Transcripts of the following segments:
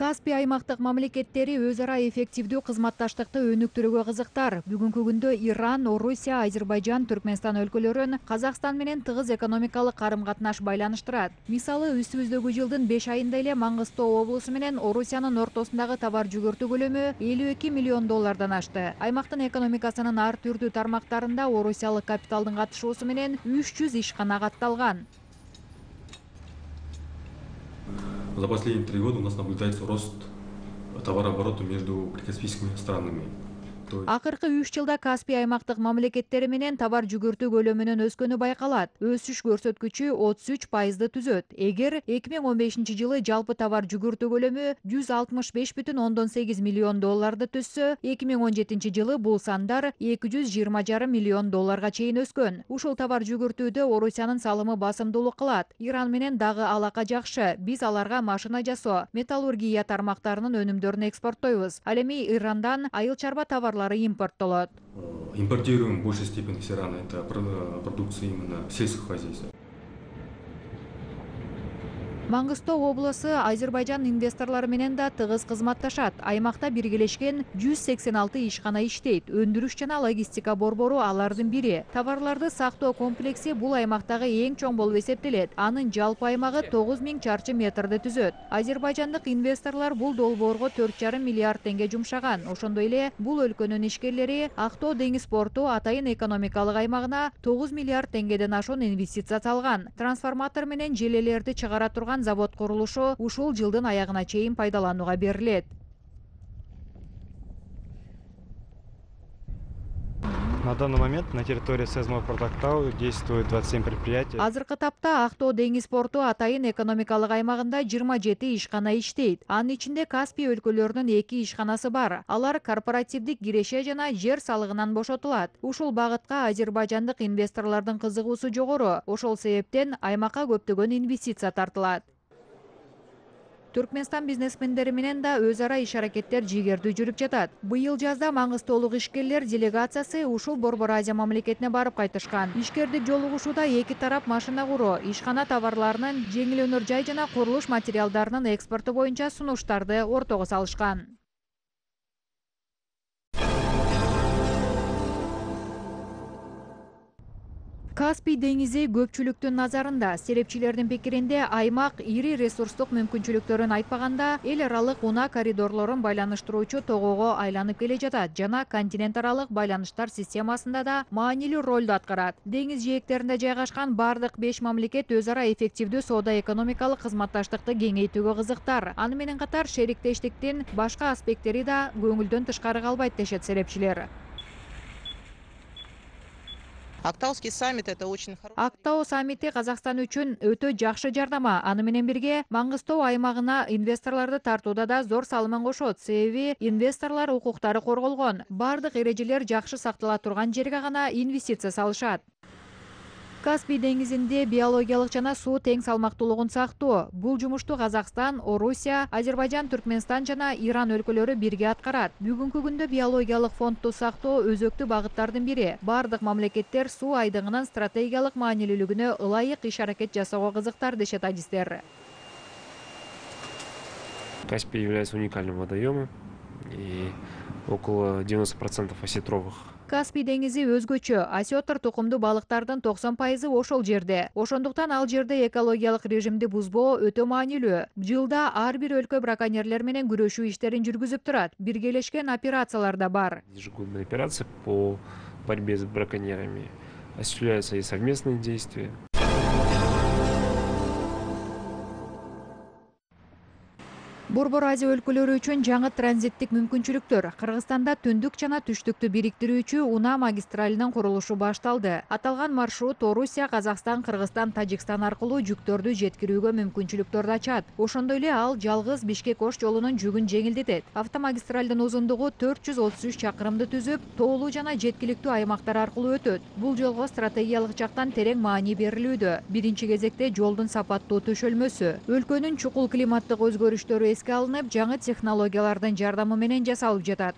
Каспий аймактык мамлекеттери өз ара эффективдүү кызматташтыкты өнүктүрүүгө кызыктар. Бүгүнкү күндө Иран, Орусия, Азербайжан, Түркмөнстан өлкөлөрүн Казакстан менен тыгыз экономикалык карым-катнаш байланыштырат. Мисалы, үстүбүздөгү жылдын 5 айында эле Маңгыстоо облусу менен Орусиянын ортосундагы товар жүгүртүү көлөмү 52 миллион доллардан ашты. Аймактын экономикасынын ар түрдүү тармактарында орусиялык капиталдын катышуусу менен 300 ишкана катталган. За последние 3 года у нас наблюдается рост товарооборота между прикаспийскими странами. Акыркы 3 жылда Каспий аймактык мамлекеттери менен товар жүгүртүү көлөмүнүн өскөнү байкалат. Өсүш көрсөткүчү 33%ды түзөт. Эгер 2015 жылы жалпы товар жүгүртүү көлөмү 165,8 миллион долларды түзсө, 2017 жылы бул сандар 220,5 миллион долларга чейин өскөн. Ушул товар жүгүртүүдө Орусиянын салымы басымдуулук кылат. Иран менен дагы алака жакшы. Биз аларга машина жасоо, металлургия тармактарынын өнүмдөрүн экспорттойбуз. Ал эми Ирандан айыл чарба товарлары импорттолот. Импортируем в большей степени с Ирана, это продукция именно сельского хозяйства. Маңгыстоо облусу Азербайжан инвесторлору менен да тыгыз кызматташат. Аймакта биргелешкен 186 ишкана иштейт. Өндүрүш жана логистика борбору алардын бири. Товарларды сактоо комплекси бул аймактагы эң чоң болуп эсептелет. Анын жалпы аймагы 9000 чарчы метрди түзөт. Азербайжандык инвесторлор бул долбоорго 4,5 миллиард теңге жумшаган. Ошондой эле бул өлкөнүн ишкерлери Актоо деңиз порту атайын экономикалык аймагына 9 миллиард теңгеден ашуун инвестиция салган. Трансформатор менен желелерди чыгара турган завод курулушу ушул жылдын аягына чейин пайдаланууга берилет. На данный момент на территории Сезмопорт Актау действует 27 предприятий. Азыркы тапта Актоо деңиз порту атайын экономикалык аймагында 27 ишкана иштейт. Анын ичинде Каспий өлкөлөрүнүн 2 ишканасы бар. Алар корпоративдик киреше жана жер салыгынан бошотулат. Ушул багытка азербайжандык инвесторлордун кызыгуусу жогору. Ошол себептен аймакка көптөгөн инвестиция тартылат. Түркмөнстан бизнесмендери менен да өз ара иш-аракеттер жигердүү жүрүп жатат. Быйыл жазда маңгыстоолук ишкерлер делегациясы ушул Борбор Азия мамлекетине барып кайтышкан. Ишкердик жолугушууда эки тарап машина куруу, ишкана товарларынын, жеңил өнөр жай жана курулуш материалдарынын экспорту боюнча сунуштарды ортого салышкан. Каспий деңизи көпчүлүктүн назарында. Серепчилердин пикиринде аймак ири ресурстук мүмкүнчүлүктөрүн айтпаганда эл аралык унаа коридорлорун байланыштыруучу тогого айланып келе жатат жана континент аралык байланыштар системасында да маанилүү ролду аткарат. Деңиз жээктеринде жайгашкан бардык 5 мамлекет өз ара эффективдүү соода-экономикалык кызматташтыкты кеңейтүүгө кызыктар. Аны менен катар шериктештиктин башка аспекттери да көңүлдөн тышкары калбайт дешет серепчилер. Актауский саммит — это очень хороший. Актау саммити Казакстан үчүн өтө жакшы жардама. Аны менен бирге Маңгыстоо аймагына инвесторлорду тартууда да зор салымын кошот. Себеби инвесторлор укуктары корголгон. Бардык эрежелер жакшы сактала турган жерге гана инвестиция салышат. Каспий деңизинде биологиялык жана суу тең салмактуулугун сактоо. Бул жумушту Казакстан, Орусия, Азербайжан, Түркмөнстан жана Иран өлкөлөрү бирге аткарат. Бүгүнкү күндө биологиялык фондду сактоо өзөктүү багыттардын бири. Бардык мамлекеттер суу айдыгынын стратегиялык маанилүүлүгүнө ылайык иш-аракет жасоого кызыктар дешет адистер. Каспий является уникальным водоемом, и около 90% осетровых. Каспий деңизи өзгөчө. Осетр тукумдуу балыктардын 90% ошол жерде. Ошондуктан ал жерде экологиялык режимди бузбоо өтө маанилүү. Жылда ар бир өлкө браконьерлер менен күрөшүү иштерин жүргүзүп турат. Биргелешкен операциялар да бар. Ежегодная операция по борьбе с браконьерами. Осуществляются и совместные действия. Борбор Азия өлкөлөрү үчүн жаңы транзиттик мүмкүнчүлүктөр. Кыргызстанда түндүк жана түштүктү бириктирүүчү унаа магистралинин курулушу башталды. Аталган маршрут Орусия, Казакстан, Кыргызстан, Тажикстан аркылуу жүктөрдү жеткирүүгө мүмкүнчүлүктөрдү ачат. Ошондой эле ал жалгыз Бишкек-Ош жолунун жүгүн жеңилдетет. Автомагистралдын узундугу 433 чакырымды түзүп, тоолуу жана жеткиликтүү аймактар аркылуу өтөт. Бул жолго стратегиялык жактан терең маани берилүүдө. Биринчи кезекте жолдун сапаттуу төшөлмөсү, өлкөнүн чукул климаттык өзгөрүштөрү эске алынып, жаңы технологиялардын жардамы менен жасалып жатат.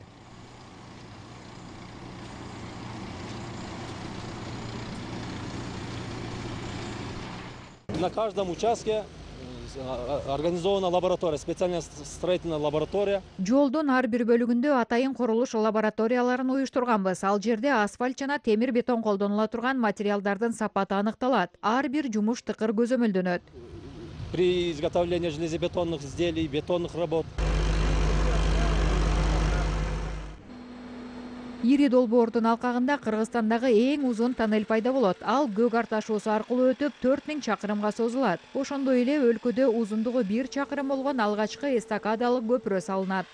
На каждом участке организована лаборатория, специальная строительная лаборатория. Жолдун ар бир бөлүгүндө атайын курулуш лабораторияларын уюштурганбыз. Ал жерде асфальт жана темир бетон колдонула турган материалдардын сапаты аныкталат. Ар бир жумуш тыкыр көзөмөлдөнөт. При изготовлении железобетонных изделий, бетонных работ. Ири долбоордун алкагында Кыргызстандагы эң узун тоннель пайда болот. Ал Көк Ар ташуусу аркылуу өтүп 4000 чакырымга созулат. Ошондой эле өлкөдө узундугу 1 чакырым болгон алгачкы эстакадалык көпүрө салынат.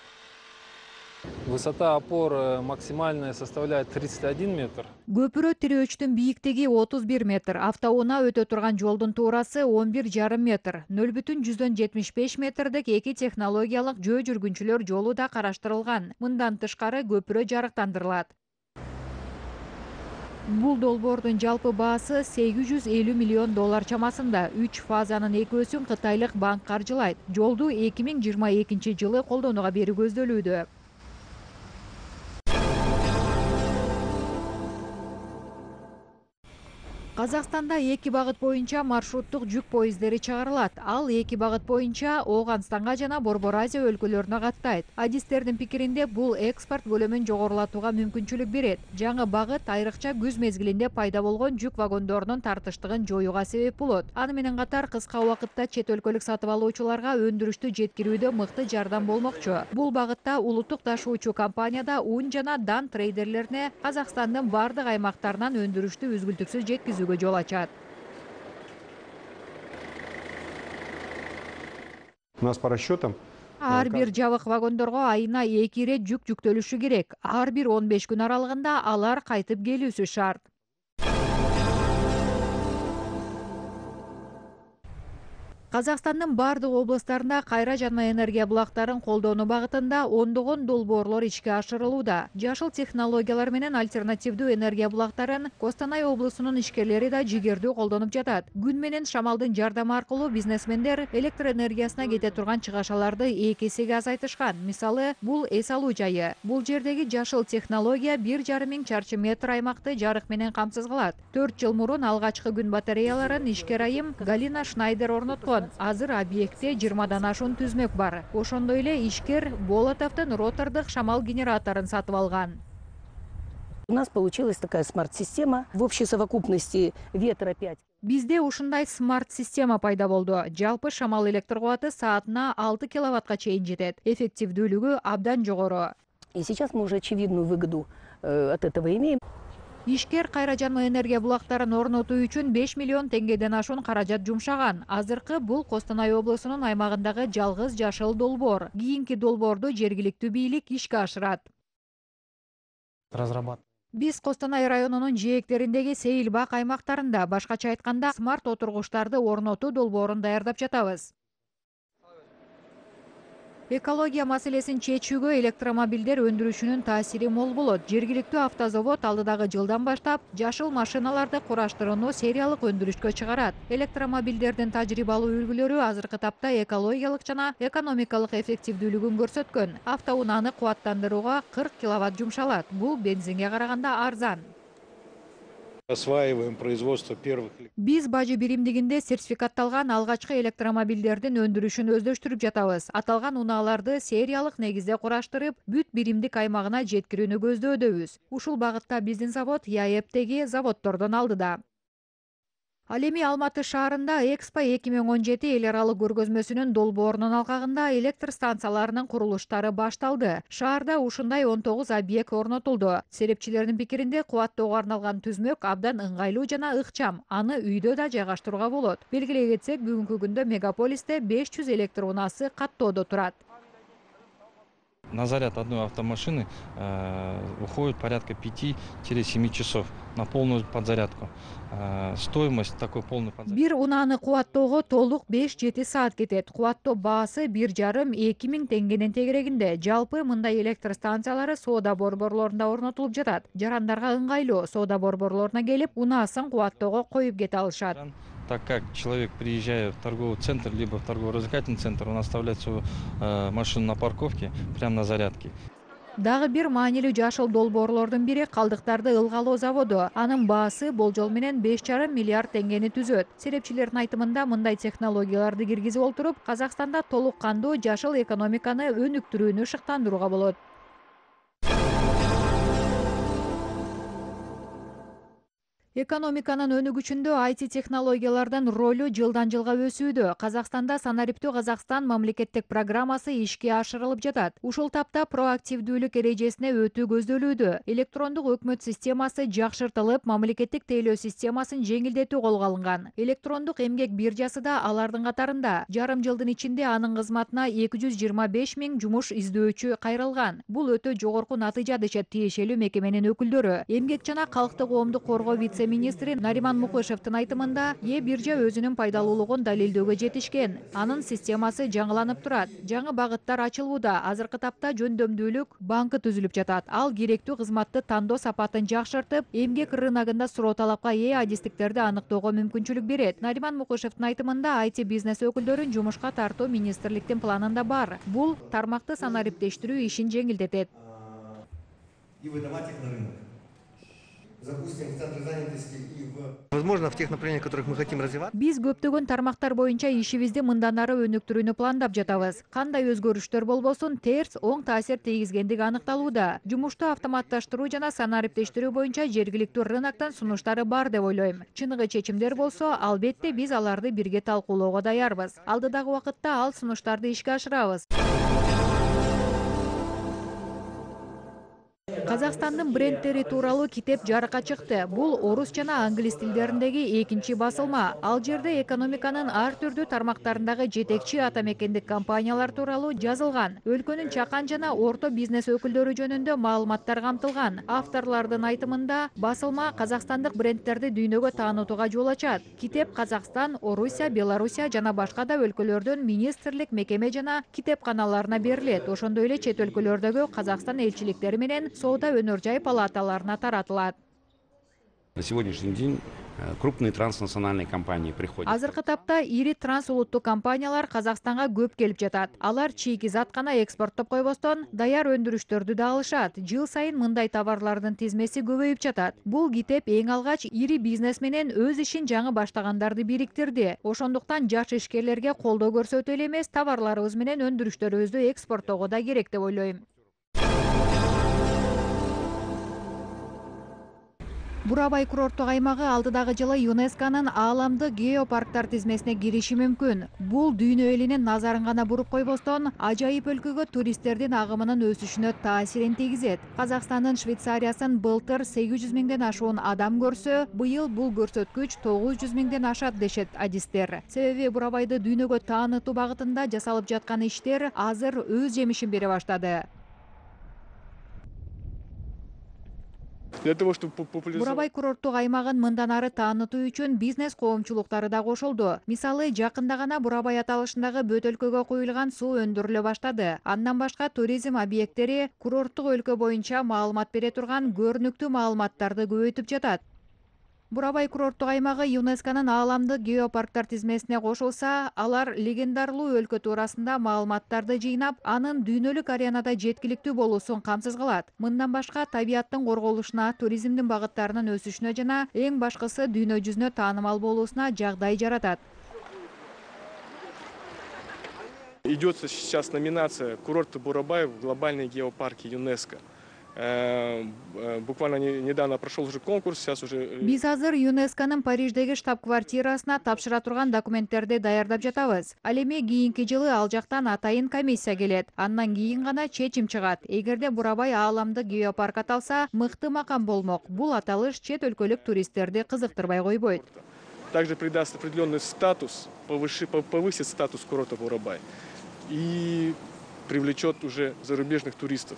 Высота опор максимальная составляет 31 метр. Көпүрө тирөөчтүн бийиктиги 31 метр, автоунаа өтө турган жолдун туурасы 11,5 метр, 0,75 метрдик эки технологиялык жөө жүргүнчүлөр жолу да караштырылган. Мындан тышкары көпүрө жарыктандырылат. Бул долбоордун жалпы баасы $850 миллион чамасында. 3 фазанын экөөсүн кытайлык банк каржылайт. Жолду 2022 жылы колдонууга берүү көздөлүүдө. Казакстанда эки багыт боюнча маршруттук жүк поездери чыгарылат. Ал эки багыт боюнча Ооганстанга жана Борбор Азия өлкөлөрүнө каттайт. Адистердин пикиринде бул экспорт көлөмүн жогорулатууга мүмкүнчүлүк берет. Жаңы багыт айрыкча күз мезгилинде пайда болгон жүк вагондорунун тартыштыгын жоюуга себеп болот. Аны менен катар кыска убакытта чет өлкөлүк сатып алуучуларга өндүрүштү жеткирүүдө мыкты жардам болмокчу. Бул багытта улуттук ташуучу компанияда ун жана дан трейдерлерине Казакстандын бардык аймактарынан өндүрүштү үзгүлтүксүз жеткизүүгө жол ачат. У нас по расчетам Ар бир жабык вагондорго айына 2 ирет жүк жүктөлүшү керек. Ар бир 15 күн аралыгында алар кайтып келүүсү шарт. Казакстандын бардык облустарында кайра жанма энергия булактарын колдонуу багытында ондогон долбоорлор ишке ашырылууда. Жашыл технологиялар менен альтернативдүү энергия булактарын Костанай облусунун ишкерлери да жигердүү колдонуп жатат. Күн менен шамалдын жардамы аркылуу бизнесмендер электр энергиясына кете турган чыгашаларды 2 эсеге азайтышкан. Мисалы, бул эс алуу жайы. Бул жердеги жашыл технология 1,5 миң чарчы метр аймакты жарык менен камсыз кылат. 4 жыл мурун алгачкы күн батареяларын ишкер айым Галина Шнайдер орноткон. Азыр объектте 20дан ашуун түзмөк бар. Ошондой эле ишкер Болотовдун ротордук шамал генераторун сатып алган. У нас получилась такая смарт-система в общей совокупности ветра 5. Бизде ушундай смарт-система пайда болду. Жалпы шамал электр кубаты саатына 6 киловаттка чейин жетет. Эффективдүүлүгү абдан жогору. И сейчас мы уже очевидную выгоду от этого имеем. Ишкер кайра жанма энергия булактарын орнотуу үчүн 5 миллион теңгеден ашуун каражат жумшаган. Азыркы бул Костанай облусунун аймагындагы жалгыз жашыл долбоор. Кийинки долбоорду жергиликтүү бийлик ишке ашырат. Биз Костанай районунун жээктериндеги Сейилбак аймактарында, башкача айтканда, смарт отургучтарды орнотуу долбоорун даярдап жатабыз. Экология маселесин чечүүгө электромобилдер өндүрүшүнүн таасири мол болот. Жергиликтүү автозавод алдыдагы жылдан баштап жашыл машиналарды кураштырууну сериялык өндүрүшкө чыгарат. Электромобилдердин тажрыйбалуу үлгүлөрү азыркы тапта экологиялык жана экономикалык эффективдүүлүгүн көрсөткөн. Автоунааны кубаттандырууга 40 киловатт жумшалат. Бул бензинге караганда арзан. Осваиваем производство первых. Биз бажы биримдигинде сертификатталган алгачкы электромобилдердин өндүрүшүн өздөштүрүп жатабыз. Аталган унааларды сериялык негизде кураштырып, бүт биримдик аймагына жеткирүүнү көздөдөбүз. Ушул багытта биздин завод ЯЭПтеги заводдордон алдыда. Ал эми Алматы шаарында Экспо 2017 эл аралык көргөзмөсүнүн долбоорунун алкагында электр станцияларынын курулуштары башталды. Шаарда ушундай 19 объект орнотулду. Серепчилердин пикиринде кубаттоого арналган түзмөк абдан ыңгайлуу жана ыкчам. Аны үйдө да жайгаштырууга болот. Белгилей кетсек, бүгүнкү күндө мегаполисте 500 электр унаасы каттоодо турат. На заряд одной автомашины уходит порядка 5-7 часов на полную подзарядку. Стоимость такой полной подзарядки. Бир унааны кубаттоого толук 5-7 саат кетет. Кубаттоо баасы 1,5-2 миң теңгенин тегерегинде. Жалпы мындай электр станциялары соода борборлорунда орнотулуп жатат. Жарандарга ыңгайлуу. Соода борборлоруна келип, унаасын кубаттоого коюп кете алышат. Так как человек, приезжая в торговый центр, либо в торгово-развлекательный центр, он оставляет свою машину на парковке, прямо на зарядке. Дагы бир маанилүү жашыл долбоорлордун бири калдыктарды ылгалоо заводу. Анын баасы болжол менен 5,5 миллиард теңгени түзөт. Серепчилердин айтымында мындай технологияларды киргизип олтуруп, Казакстанда толук кандуу жашыл экономиканы өнүктүрүүнү шыктандырууга болот. Экономиканын өнүгүшүндө IT технологиялардын ролу жылдан жылга өсүүдө. Казакстанда Санариптүү Казакстан мамлекеттик программасы ишке ашырылып жатат. Ушул тапта проактивдүүлүк эрежесине өтүү көздөлүүдө. Электрондук өкмөт системасы жакшыртылып, мамлекеттик тейлөө системасын жеңилдетүү колго алынган. Электрондук эмгек биржасы да алардын катарында. Жарым жылдын ичинде анын кызматына 225 000 жумуш издөөчү кайрылган. Бул өтө жогорку натыйжа дешет тиешелүү мекеменин өкүлдөрү. Эмгек жана калкты коомдук коргоо вице-министри Нариман Мукышевдин айтымында, биржа өзүнүн пайдалуулугун далилдөөгө жетишкен. Анын системасы жаңыланып турат. Жаңы багыттар ачылууда. Азыркы тапта жөндөмдүүлүк банкы түзүлүп жатат. Ал керектүү кызматты тандоо сапатын жакшыртып, эмгек рыногунда суроо талапка ээ адистиктерди аныктоого мүмкүнчүлүк берет. Нариман Мукышевдин айтымында, IT бизнес өкүлдөрүн жумушка тартуу министрликтин планында бар. Бул тармакты санариптештирүү ишин жеңилдетет. И выдавать их на рынок. Запустим в центре занятости и в... Возможно, в тех направлениях, в которых мы хотим развивать. Биз көптөгөн тармактар боюнча ишибизди мындан ары өнүктүрүүнү пландап жатабыз. Кандай өзгөрүштөр болбосун, терс, оң таасир тийгизгендиги аныкталууда. Жумушту автоматташтыруу жана санариптештирүү боюнча жергиликтүү рыноктон сунуштары бар деп ойлойм. Чыныгы чечимдер болсо, албетте биз аларды бирге талкуулоого даярбыз. Алдыдагы убакытта ал сунуштарды ишке ашырабыз. Казакстандын брендтери тууралуу китеп жарыкка чыкты. Бул орус жана англис тилдериндеги экинчи басылма. Ал жерде экономиканын ар түрдүү тармактарындагы жетекчи атамекендик компаниялар тууралуу жазылган. Өлкөнүн чакан жана орто бизнес өкүлдөрү жөнүндө маалыматтар камтылган. Авторлордун айтымында, басылма казакстандык брендтерди дүйнөгө таанытууга жол ачат. Китеп Казакстан, Орусия, Белоруссия жана башка да өлкөлөрдүн министрлик, мекеме жана китепканаларына берилет. Ошондой эле чет өлкөлөрдөгү Казакстан элчиликтери менен соода өнөр жай палаталарына таратылат. На сегодняшний день крупные транснациональные компании приходят. Азыркы тапта ири трансулуттуу компаниялар Казакстанга көп келип жатат. Алар чийки зат гана экспорттоп койбостон, даяр өндүрүштөрдү да алышат. Жыл сайын мындай товарлардын тизмеси көбөйүп жатат. Бул китеп эң алгач ири бизнес менен өз ишин жаңы баштагандарды бириктирди. Ошондуктан жаш ишкерлерге колдоо көрсөтүү эле эмес, товарларыбыз менен өндүрүштөрүбүздү экспорттоого да керек деп ойлойм. Бурабай курорттук аймагы алдыдагы жылы ЮНЕСКОнун ааламдык геопарктар тизмесине кириши мүмкүн. Бул дүйнө элинин назарын гана буруп койбостон, ажайып өлкөгө туристтердин агымынын өсүшүнө таасирин тийгизет. Казакстандын Швейцариясын былтыр 800 000ден ашуун адам көрсө, быйыл бул көрсөткүч 900 000ден ашат дешет адистер. Себеби Бурабайды дүйнөгө таанытуу багытында жасалып жаткан иштер азыр өз жемишин бере баштады. Бурабай курорттук аймагын мындан ары таанытуу үчүн бизнес коомчулуктары да кошулду. Мисалы, жакында гана Бурабай аталышындагы бөтөлкөгө куюлган суу өндүрүлө баштады. Андан башка туризм объекттери курорттук өлкө боюнча маалымат бере турган көрүнүктүү маалыматтарды көбөйтүп жатат. Бурабай курорттук аймагы ЮНЕСКОнун ааламдык геопарктар тизмесине кошулса, алар легендарлуу өлкө туурасында маалыматтарды жыйнап, анын дүйнөлүк аренада жеткиликтүү болуусун камсыз кылат. Мындан башка табияттын корголушуна, туризмдин багыттарынын өсүшүнө жана эң башкысы дүйнө жүзүнө таанымал болуусуна жагдай жаратат. Идет сейчас номинация «Курорты Бурабай в глобальные геопарки ЮНЕСКО». Буквально недавно прошел уже конкурс, сейчас уже... Биз азыр ЮНЕСКонун Париждеги штаб-квартирасына тапшыра турган документтерди даярдап жатабыз. Ал эми кийинки жылы ал жактан атайын комиссия келет. Андан кийин гана чечим чыгат. Эгерде Бурабай ааламдык геопарк аталса, мыкты макам болмок. Бул аталыш чет өлкөлүк туристтерди кызыктырбай койбойт. Также придаст определенный статус, повысит статус курорта Бурабай и привлечет уже зарубежных туристов.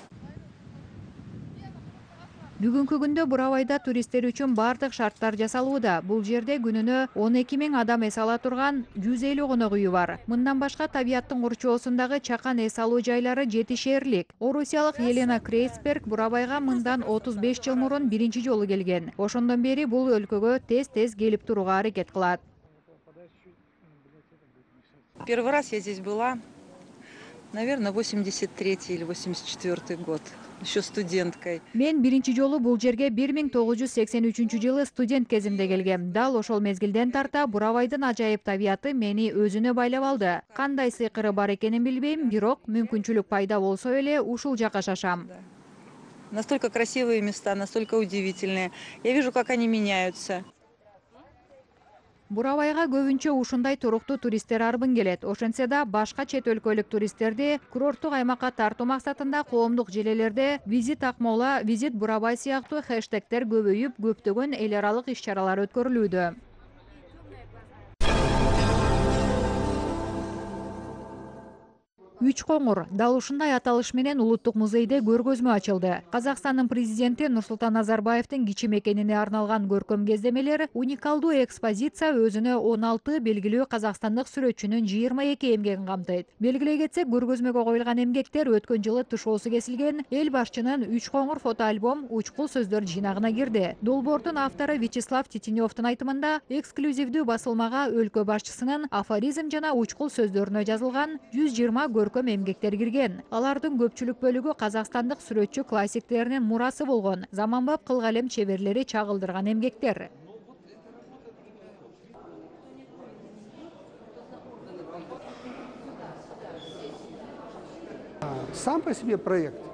Бүгүнкү күндө Бурабайда туристтер үчүн бардык шарттар жасалууда. Бул жерде күнүнө 12 000 адам эс ала турган 150 конок үйү бар. Мындан башка табияттын курчоосундагы чакан эс алуу жайлары жетишээрлик. Орусиялык Елена Крейсберг Бурабайга мындан 35 жыл мурун биринчи жолу келген. Ошондон бери бул өлкөгө тез-тез келип турууга аракет кылат. Первый раз я здесь была, наверное, 83-й или 84-й год. еще студенткой. Мен биринчи жолу бул жерге 1983-жылы студент кезимде келгем. Дал ошол мезгилден тарта Бурабайдын ажайып табияты мени өзүнө байлап алды. Кандай сыйкыры бар экенин билбейм, бирок мүмкүнчүлүк пайда болсо эле ушул жака шашам. Настолько красивые места, настолько удивительные. Я вижу, как они меняются. Бурабайга көбүнчө ушундай туруктуу туристтер арбын келет. Ошентсе да башка чет өлкөлүк туристтерди курорттук аймакка тартуу максатында коомдук желелерде «Визит Акмола», «Визит Бурабай» сыяктуу хэштегтер көбөйүп, көптөгөн эл аралык иш-чаралар өткөрүлүүдө. Үч коңур дал ушундай аталыш менен улуттук музейде көргөзмө ачылды. Казакстандын президенти Нурсултан Назарбаевдин кичи мекенине арналган көркөм кездемелер уникалдуу экспозиция өзүнө 16 белгилүү казакстандык сүрөтчүнүн 22 эмгегин камтыйт. Белгилей кетсек, көргөзмөгө коюлган эмгектер өткөн жылы тышоосу кесилген эл башчынын Үч коңур фотоальбом учкул сөздөр жыйнагына кирди. Долбоордун автору Вячеслав Титинёвдун айтымында, эксклюзивдүү басылмага өлкө башчысынын афоризм жана учкул сөздөрүнө жазылган 120 көркөм эмгектер кирген. Алардын көпчүлүк бөлүгү казакстандык сүрөтчү классиктеринин мурасы болгон, заманбап кылгалем чеберлери чагылдырган эмгектер. Сам по себе проект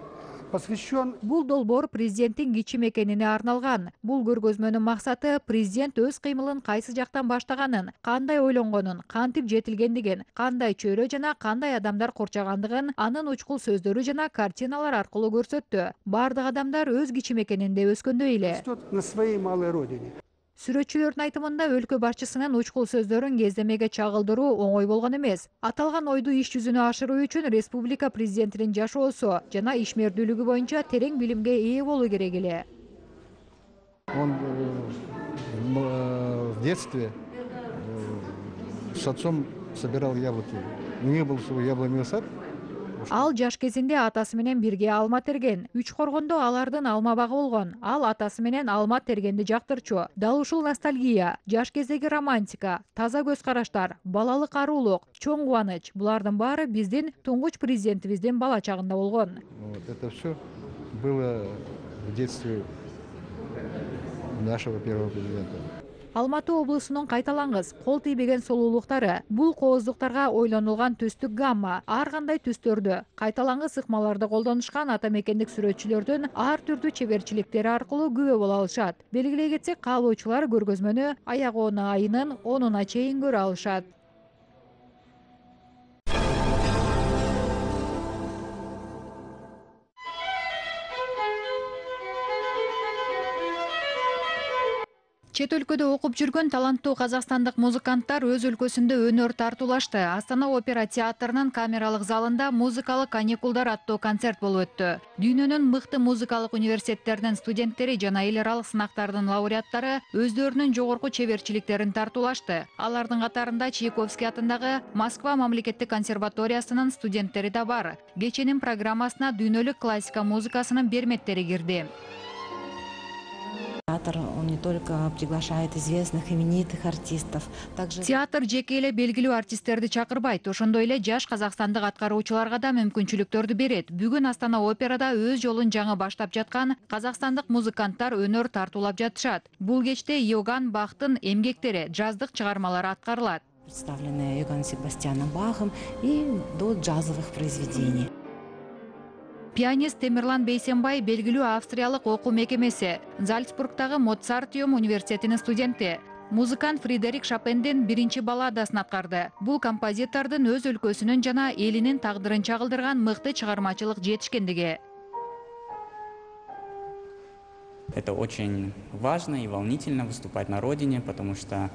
посвящен. Бул долбоор президенттин кичи мекенине арналган. Бул көргөзмөнүн максаты президент өз кыймылын кайсы жактан баштаганын, кандай ойлонгонун, кантип жетилгендигин, кандай чөйрө жана кандай адамдар корчогандыгын анын учкул сөздөрү жана картиналар аркылуу көрсөттү. Бардык адамдар өз кичи мекенинде өскөндөй эле. На своей малой родине. Сүрөтчүлөрдүн айтымында өлкө башчысынын учкул сөздөрүн кездемеге чагылдыруу оңой болгон эмес. Аталган ойду иш жүзүнө ашыруу үчүн республика президентинин жашоосу жана ишмердүүлүгү боюнча терең билимге ээ болуу керек эле. Он в детстве с отцом собирал яблоки. У него был свой яблоневый сад. Ал жаш кезинде атасы менен бирге алма терген. Үч коргондо алардын алма багы болгон. Ал атасы менен алма тергенди жактырчу. Дал ушул ностальгия, жаш кездеги романтика, таза көз караштар, балалык арулук, чоң кубаныч — булардын баары биздин туңгуч президентибиздин бала чагында болгон. Вот это все было в детстве нашего первого президента. Алматы облусунун кайталангыс, кол тийбеген солуулуктары бул кооздуктарга ойлонулган түстүк гамма, ар кандай түстөрдү, кайталангыс ыкмаларды колдонушкан ата мекендик сүрөтчүлөрдүн ар түрдүү чеберчиликтери аркылуу күбө боло алышат. Белгилей кетсек, каалоочулар көргөзмөнү аяк айынын 10-уна чейин көрө алышат. Чет өлкөдө окуп жүргөн таланттуу казакстандык музыканттар өз өлкөсүндө өнөр тартуулашты. Астана опера театрынын камералык залында музыкалык каникулдар аттуу концерт болуп өттү. Дүйнөнүн мыкты музыкалык университеттеринин студенттери жана эл аралык сынактардын лауреаттары өздөрүнүн жогорку чеберчиликтерин тартуулашты. Алардын катарында Чайковский атындагы Москва мамлекеттик консерваториясынын студенттери да бар. Кеченин программасына дүйнөлүк классика музыкасынын берметтери кирди. Театр, он не только приглашает известных, именитых артистов, также... Театр жеке эле белгилүү артисттерди чакырбайт, ошондой эле жаш казакстандык аткаруучуларга да мүмкүнчүлүктөрдү берет. Бүгүн Астана операда өз жолун жаңы баштап жаткан казакстандык музыканттар өнөр тартуулап жатышат. Бул кечте Йоган Бахтын эмгектери, жаздык чыгармалары аткарылат. Представлены Йоганном Себастьяном Бахом и до джазовых произведений. Пианист Темирлан Бейсенбай белгилүү австриялык окуу мекемеси, Зальцбургтагы Моцартиум университетинин студенти. Музыкант Фредерик Шопендин биринчи балладасын аткарды. Бул композитордун өз өлкөсүнүн жана элинин тагдырын чагылдырган мыкты чыгармачылык жетишкендиги. Это очень важно и волнительно выступать на родине, потому что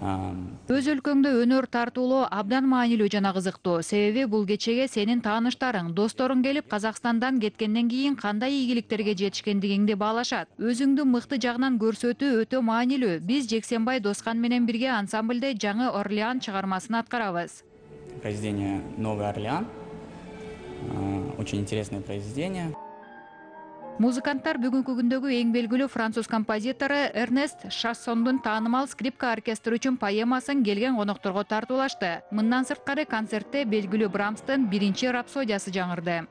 Өз өлкөңдө өнөр тартуулоо абдан маанилүү жана кызыктуу. Себеби бул кечеге сенин тааныштарың, досторуң келип Казакстандан кеткенден кийин кандай ийгиликтерге жетишкендигиңди баалашат. Өзүңдү мыкты жагынан көрсөтүү өтө маанилүү. Биз Жексенбай Доскан менен бирге ансамбльде Жаңы Орлеан чыгармасын аткарабыз. Произведение «Новый Орлеан». Очень интересное произведение. Музыканттар бүгүнкү күндөгү эң белгилүү француз композитору Эрнест Шассондун таанымал скрипка оркестрі үчүн поэмасын келген конокторго тартуулашты. Мындан сырткары концертте белгилүү Брамстын биринчи рапсодиясы жаңырды.